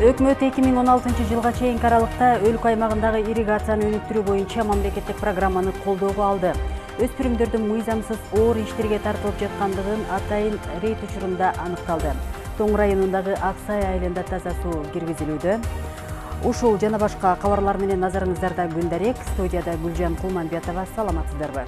Өкмөт 2016 жылга чейинки аралыкта өлкө аймагындагы ирригацияны өнүктүрүү боюнча мамлекеттик программаны колдоого алды. Өспүрүмдөрдүн мыйзамсыз оор иштерге тартылып жаткандыгын атайын рейд учурунда аныкталды. Тоң районундагы Аксай айылында таза суу киргизилүүдө. Ушул жана башка кабарлар менен назарыңыздарда күн дарек. Студияда Гүлжан Кулманбетова. Саламатсыздарбы?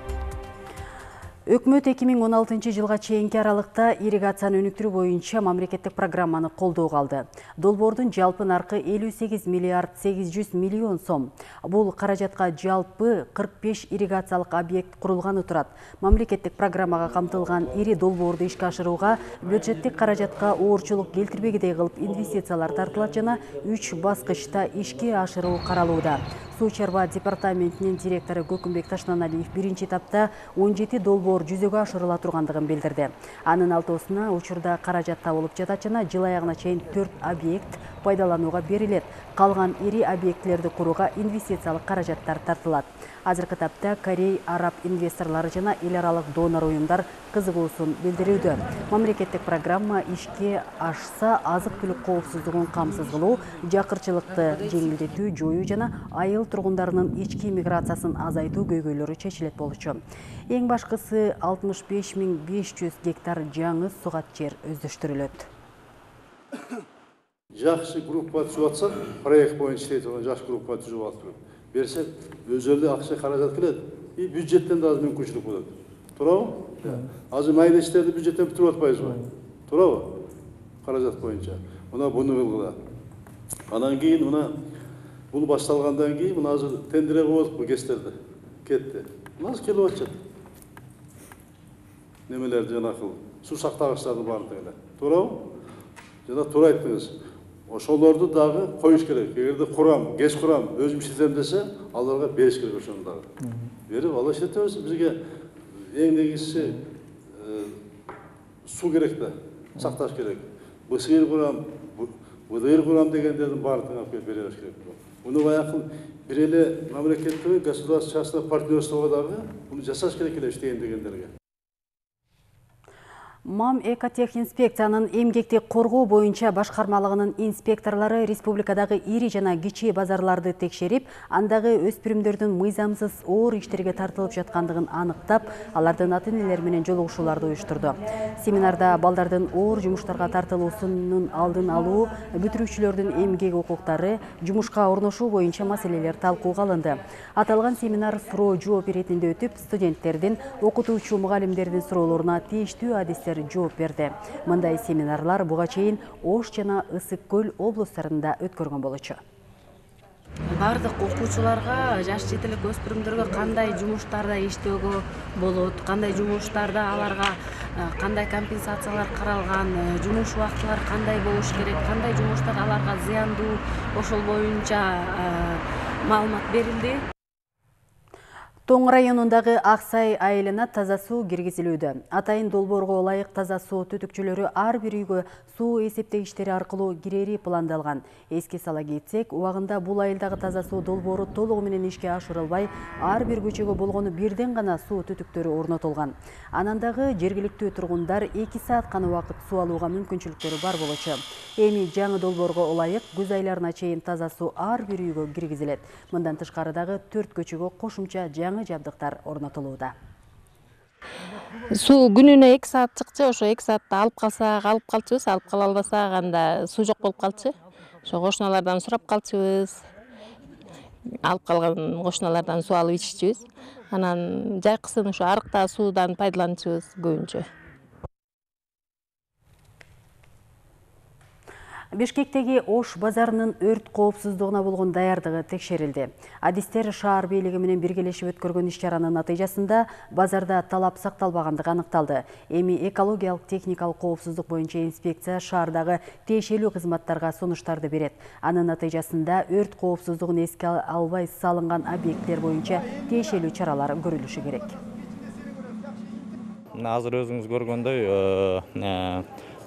Өкмөт 2016 жылга чейинки аралыкта ирригацияны өнүктүрүү боюнча мамлекеттик программаны колдоого алды. Долбоордун жалпы наркы 58 миллиард 800 миллион сом. Бул каражатка жалпы 45 ирригациялык объект курулганы турат. Мамлекеттик программага камтылган ири долбоорду ишке ашырууга бюджеттик каражатка оорчулук келтирбегидей кылып инвестициялар тартылат жана 3 баскычта ишке ашыруу каралууда. Суу чарба департаментинин директору Көкүмбек Ташнаналиев биринчи этапта 17 долбоор жүзөгө ашырыла тургандыгын билдирди. Анын алтоосуна учурда каражат табылып жатат жана жыл аягына чейин 4 объект пайдаланууга берилет. Калган ири объектилерди курууга инвестициялык каражаттар тартылат. Азыркы тапта Корей, араб инвесторлору жана эл аралык донор уюмдар кызыгуусун билдирүүдө. Мамлекеттик программа ишке ашса, азык-түлүк коопсуздугун камсыз кылуу, жакырчылыкты жеңилдетүү, жоюу жана айыл тургундарынын ички миграциясын азайтуу көйгөйлөрү чечилет болчу. Эң башкысы 65.500 гектар жаңы сугат жер өздөштүрүлөт. Жакшы группа түзүп атсак, проект боюнча иштей турган жакшы группа түзүп алып берсек, өзөлдү акча каражат келет, и бюджеттен да аз мүмкүнчүлүк болот. Туурабы? Азыр майда иштерди бюджеттен бүтүрүп атпайбызбы? Туурабы? Каражат боюнча. Мына буну кылгыла. Анан кийин мына бул башталгандан кийин мына азыр тендерге коюлуп кестерди. Кетти. Азыр келип атышат. Немелерди жанакыл суу сактагычтардын баардыгы эле. Туурабы? Жана туура айттыңыз. Ошолорду дагы коюш керек. Эгерде курам, кеч курам, өзүм иштетем десе, аларга бериш керек ошону дагы. Берип, алар иштетебиз. Бизге эң негизгиси суу керек да, сакташ керек. БСИР курам, ВДР курам дегендердин баардыгын алып келип беребиз керек. Муну баягы бир эле мамлекеттеги государство-частное партнерствого дагы муну жасаш керек эле иштейин дегендерге. МАМ Экотехинспекциянын эмгекти коргоо боюнча башкармалыгынын инспекторлору республикадагы ири жана кичи базарларды текшерип, андагы өспүрүмдөрдүн мыйзамсыз оор иштерге тартылып жаткандыгын аныктап, алардын ата-энелери менен жолугушууларды уюштурду. Семинарда балдардын оор жумуштарга тартылуусунун алдын алуу, бүтүрүүчүлөрдүн эмгек укуктары, жумушка орношуу боюнча маселелер талкууга алынды. Аталган семинар суроо жооп иретинде өтүп, студенттердин, окутуучу мугалимдердин суроолоруна тийиштүү адистер жооп берди. Мындай семинарлар буга чейин Ош жана Ысык көл облустарында өткөргөн болчу. Бардык окуучуларга, жаш жетелик өспүрүмдөргө кандай жумуштарда иштөөгө болот, кандай жумуштарда аларга кандай компенсациялар каралган, жумуш убактылары кандай болуш керек, кандай жумуштар аларга зыяндуу, ошол боюнча маалымат берилди. Тоң районундагы Аксай айылына таза суу киргизилүүдө. Атайын долбоорго ылайык таза суу түтүкчөлөрү ар бир үйгө суу эсептегичтери аркылуу кирери пландалган. Эске сала кетсек, убагында бул айылдагы таза суу долбоору толугу менен ишке ашырылбай, ар бир көчөгө болгону бирден гана суу түтүктөрү орнотулган. Анан дагы жергиликтүү тургундар 2 саат гана убакыт суу алууга мүмкүнчүлүктөрү бар болчу. Эми жаңы долбоорго ылайык күз айларына чейин таза суу ар бир үйгө киргизилет. Мындан тышкары дагы 4 көчөгө кошумча жаңы жабдыктар орнотулууда. Суу күнүнө 2 саат чыкчы, ошо 2 саатта алып калсак, алып калчубуз, алып кала албасак анда суу жок болуп калчу. Ошо кошуналардан сурап калчубуз. Алып калган кошуналардан суу алып иччүбүз. Анан жайкысын ошо арыктагы суудан пайдаланчубуз көбүнчө. Бишкектеги Ош базарынын өрт коопсуздугуна болгон даярдыгы текшерилди. Адистер шаар бийлиги менен биргелешип өткөргөн иш-чаранын натыйжасында базарда талап сакталбагандыгы аныкталды. Эми экологиялык техникалык коопсуздук боюнча инспекция шаардагы тиешелүү кызматтарга сунуштарды берет. Анын натыйжасында өрт коопсуздугун эске албай салынган объекттер боюнча тиешелүү чаралар көрүлүшү керек. Азыр өзүңүз көргөндөй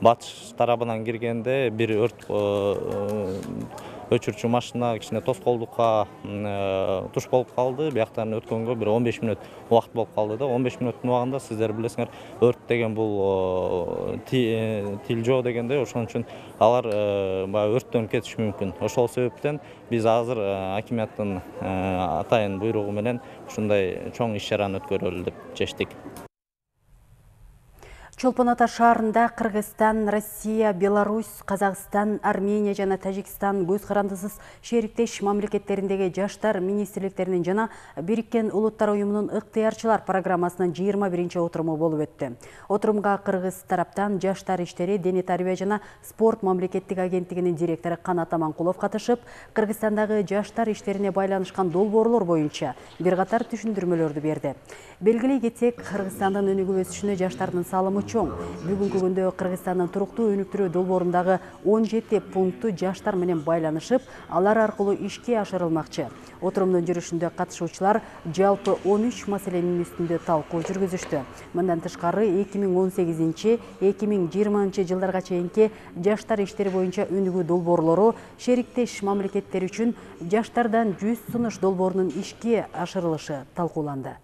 батыш тарабынан киргенде бир өрт өчүрчү машина кичине тоскоолдукка туш болуп калды. Бияктан өткөнгө бир 15 мүнөт убакыт болуп калды да. 15 мүнөттүн убагында сиздер билесиңер, өрт деген бул тил жоо дегенде, ошон үчүн алар баягы өрттөнүп кетиши мүмкүн. Ошол себептен биз азыр акиматтын атайын буйругу менен ушундай чоң иш-чараны өткөрөлү деп чечтик. Чолпон Ата шаарында Кыргызстан, Россия, Беларусь, Казакстан, Армения жана Тажикстан көз карандысыз шериктеш мамлекеттериндеги жаштар министрликтеринин жана Бириккен Улуттар уюмунун ыктыярчылар программасынын 21-отуруму болуп өттү. Отурумга Кыргыз тараптан жаштар иштери, дене тарбия жана спорт мамлекеттик агенттигинин директору Канат Аманкулов катышып, Кыргызстандагы жаштар иштерине байланышкан долбоорлор боюнча бир катар түшүндүрмөлөрдү берди. Белгилей кетсек, Кыргызстандын өнүгүп өсүшүнө жаштардын салымы чоң. Бүгүнкү күндө Кыргызстандын туруктуу өнүктүрүү долбоорундагы 17 пункту жаштар менен байланышып, алар аркылуу ишке ашырылмакчы. Отурумдун жүрүшүндө катышуучулар жалпы 13 маселенин үстүндө талкуу жүргүзүштү. Мындан тышкары 2018-2020 жылдарга чейинки жаштар иштери боюнча өнүгүү долбоорлору шериктеш мамлекеттер үчүн жаштардан 100 сунуш долбоорунун ишке ашырылышы талкууланды.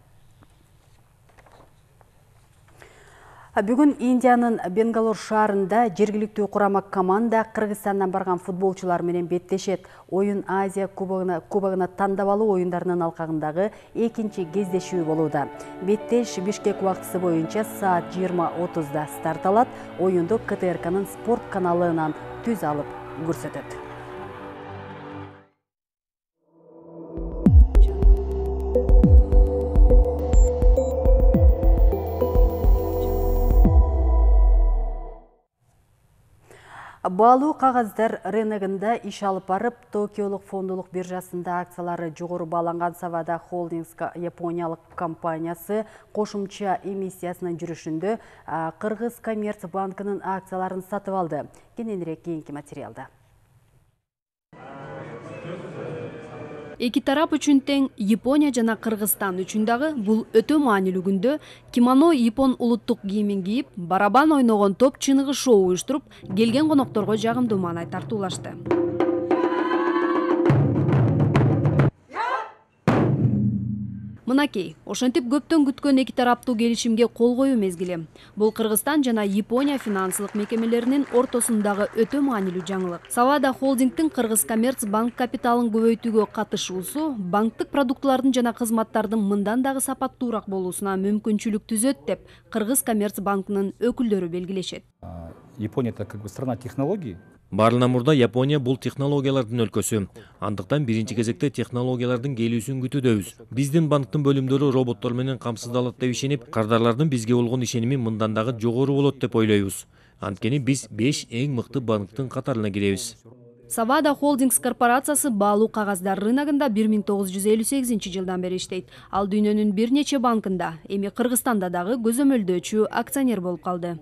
Бүгүн Индиянын Бенгалур шаарында жергиликтүү курама команда Кыргызстандан барган футболчулар менен беттешет. Оюн Азия кубогуна тандабалуу оюндарынын алкагындагы экинчи кездешүү болууда. Беттеш Бишкек убактысы боюнча саат 20:30 старт алат. Оюнду КТРКнын спорт каналынан түз алып көрсөтөт. Баалуу кагаздар рыногунда иш алып барып, Токиолук фондулук биржасында акциялары жогору бааланган Савада Холдингс япониялык компаниясы кошумча эмиссиясынын жүрүшүндө Кыргыз Коммерцбанкынын акцияларын сатып алды. Кененирээк кийинки материалда. Эки тарап үчүн тең Япония жана Кыргызстан үчүн дагы бул өтө маанилүү күндө кимоно япон улуттук кийимин кийип, барабан ойногон топ чыныгы шоу уюштуруп, келген конокторго жагымдуу маанай тартуулашты. Мынакей, ошентип көптөн күткөн эки тараптуу келишимге кол коюу мезгили. Бул Кыргызстан жана Япония финансылык мекемелеринин ортосундагы өтө маанилүү жаңылык. Савада Холдингтин Кыргыз Коммерцбанк капиталын көбөйтүүгө катышуусу банктык продуктлардын жана кызматтардын мындан дагы сапаттуураак болуусуна мүмкүнчүлүк түзөт деп Кыргыз Коммерцбанкынын өкүлдөрү белгилешет. Япония это как бы страна технологий. Баарынан мурда Япония бул технологиялардын өлкөсү. Андыктан биринчи кезекте технологиялардын келүүсүн күтүүдөбүз. Биздин банктын бөлүмдөрү роботтор менен камсыздалат деп ишенип, кардарлардын бизге болгон ишеними мындан дагы жогору болот деп ойлойбуз. Анткени биз 5 эң мыкты банктын катарына киребиз. Савада Холдингс корпорациясы баалуу кагаздар рыногунда 1958 жылдан бери иштейт. Ал дүйнөнүн бир нече банкында, эми Кыргызстанда дагы көзөмөлдөөчү акционер болуп калды.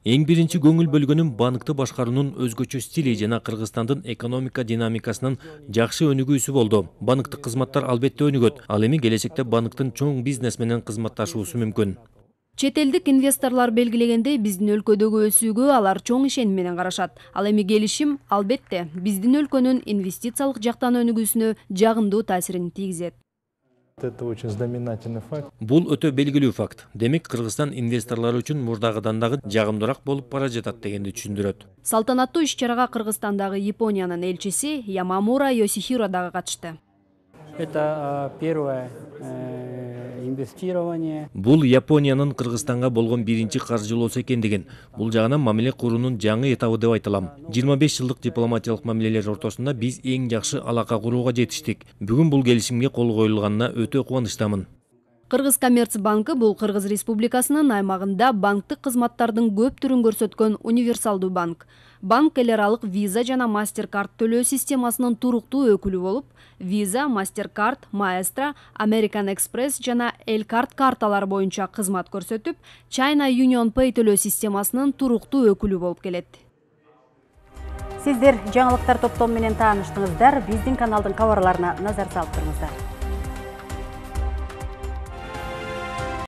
Эң биринчи көңүл бөлгөнүм банкты башкаруунун өзгөчө стили жана Кыргызстандын экономика динамикасынын жакшы өнүгүүсү болду. Банктык кызматтар албетте өнүгөт. Ал эми келечекте банктын чоң бизнес менен кызматташуусу мүмкүн. Чет элдик инвесторлор белгилегендей, биздин өлкөдөгү өсүүгө алар чоң ишеним менен карашат. Ал эми келишим албетте биздин өлкөнүн инвестициялык жактан өнүгүүсүнө жагымдуу таасирин тийгизет. Это очень знаменательный факт. Бул өтө белгилүү факт. Демек, Кыргызстан инвесторлор үчүн мурдагыдан дагы жагымдуураак болуп бара жатат дегенди түшүндүрөт. Салтанаттуу иш-чарага Кыргызстандагы Япониянын элчиси Ямамура Йосихиро дагы катышты. Это первое инвестирование. Бул Япониянын Кыргызстанга болгон биринчи каржылоосу экендигин, бул жагынан мамиле куруунун жаңы этабы деп айтылам. 25 жылдык дипломатиялык мамилелер ортосунда биз эң жакшы алака курууга жетиштик. Бүгүн бул келишимге кол коюлганына өтө кубанычтамын. Кыргыз Коммерцбанкы бул Кыргыз Республикасынын аймагында банктык кызматтардын көп түрүн көрсөткөн универсалдуу банк. Банк эл аралык Visa жана MasterCard төлөө системасынын туруктуу өкүлү болуп, Visa, MasterCard, Maestro, American Express жана Elcard карталар боюнча кызмат көрсөтүп, China Union Pay төлөө системасынын туруктуу өкүлү болуп келет. Сиздер жаңылыктар топтому менен тааныштыңыздар. Биздин каналдын кабарларына назар салып туруңуздар.